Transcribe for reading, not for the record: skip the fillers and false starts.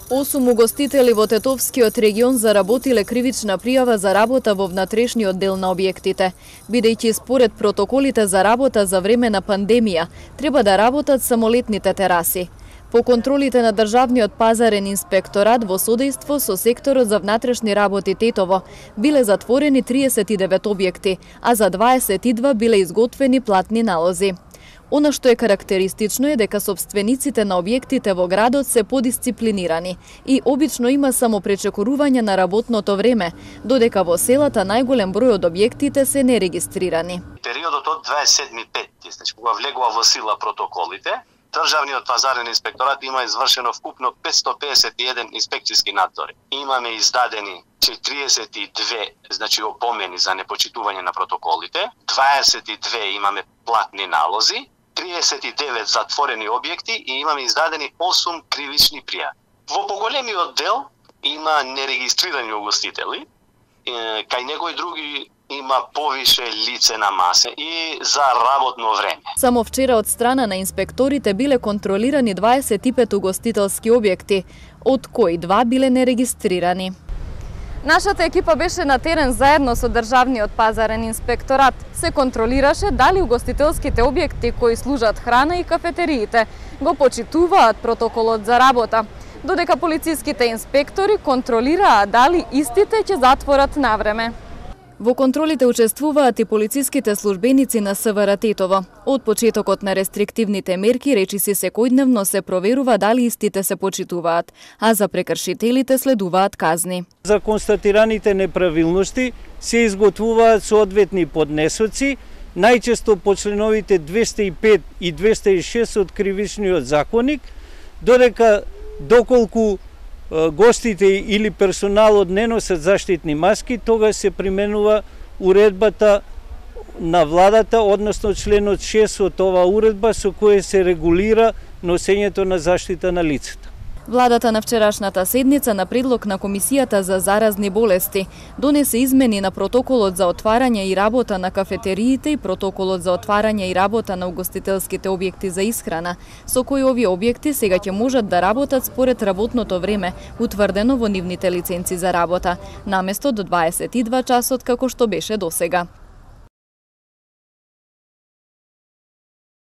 8 угостители во Тетовскиот регион заработиле кривична пријава за работа во внатрешниот дел на објектите, бидејќи според протоколите за работа за време на пандемија треба да работат самолетните тераси. По контролите на Државниот пазарен инспекторат во содејство со секторот за внатрешни работи Тетово биле затворени 39 објекти, а за 22 биле изготвени платни налози. Она што е карактеристично е дека сопствениците на објектите во градот се подисциплинирани и обично има само пречекорување на работното време, додека во селата најголем број од објектите се нерегистрирани. Периодот од 27.5, значи кога влегува во сила протоколите, Државниот пазарен инспекторат има извршено вкупно 551 инспекцијски надзори. Имаме издадени 42, значи опомени за непочитување на протоколите, 22 имаме платни налози, 39 затворени објекти и имаме издадени 8 кривични пријави. Во поголемиот дел има нерегистрирани угостители, кај некои други има повише лице на масе и за работно време. Само вчера од страна на инспекторите биле контролирани 25 угостителски објекти, од кои 2 биле нерегистрирани. Нашата екипа беше на терен заедно со Државниот пазарен инспекторат. Се контролираше дали угостителските објекти кои служат храна и кафетериите го почитуваат протоколот за работа, додека полициските инспектори контролираа дали истите ќе затворат навреме. Во контролите учествуваат и полициските службеници на СВР Тетово. Од почетокот на рестриктивните мерки речиси секојдневно се проверува дали истите се почитуваат, а за прекршителите следуваат казни. За констатираните неправилности се изготвуваат соодветни поднесоци, најчесто по членовите 205 и 206 од Кривичниот законник, додека доколку гостите или персоналот не носат заштитни маски, тогаш се применува уредбата на владата, односно членот 6 од оваа уредба со која се регулира носењето на заштита на лицата. Владата на вчерашната седница на предлог на Комисијата за заразни болести донесе измени на протоколот за отварање и работа на кафетериите и протоколот за отварање и работа на угостителските објекти за исхрана, со кои овие објекти сега ќе можат да работат според работното време утврдено во нивните лиценци за работа, наместо до 22 часот како што беше досега.